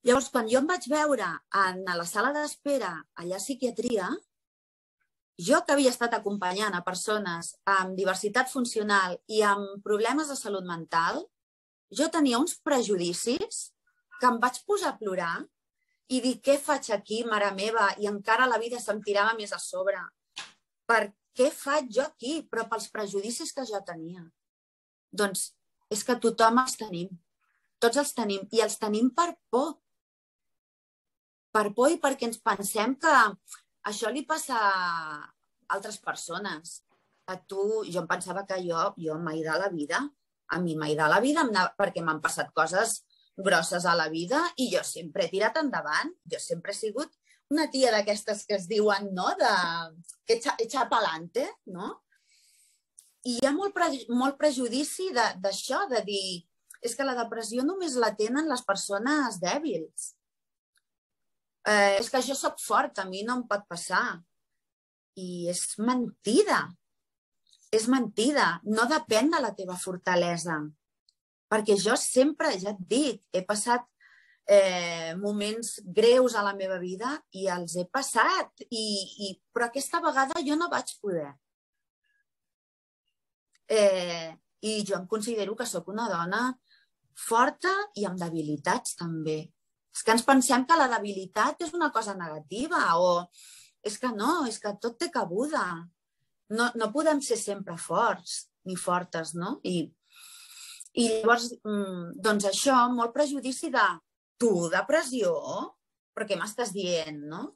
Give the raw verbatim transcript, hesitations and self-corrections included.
Llavors, quan jo em vaig veure en la sala d'espera allà a psiquiatria, jo que havia estat acompanyant a persones amb diversitat funcional i amb problemes de salut mental, jo tenia uns prejudicis que em vaig posar a plorar i dir, què faig aquí, mare meva? I encara la vida se'm tirava més a sobre. Per què faig jo aquí? Però pels prejudicis que jo tenia. Doncs és que tothom els tenim. Tots els tenim. I els tenim per por. Per por i perquè ens pensem que això li passa a altres persones. A tu, jo em pensava que jo, jo mai de la vida, a mi mai de la vida, perquè m'han passat coses grosses a la vida i jo sempre he tirat endavant. Jo sempre he sigut una tia d'aquestes que es diuen, no?, de... que echa pa'lante, no? I hi ha molt, pre... molt prejudici d'això, de, de dir, és que la depressió només la tenen les persones dèbils. Eh, és que jo soc fort, a mi no em pot passar. I és mentida. És mentida. No depèn de la teva fortalesa. Perquè jo sempre, ja et dic, he passat eh, moments greus a la meva vida i els he passat. I, i, però aquesta vegada jo no vaig poder. Eh, I jo em considero que sóc una dona forta i amb debilitats també. És que ens pensem que la debilitat és una cosa negativa o és que no, és que tot té cabuda. No, no podem ser sempre forts ni fortes, no? I, i llavors, doncs això, molt prejudici de tu, depressió? Però què m'estàs dient, no?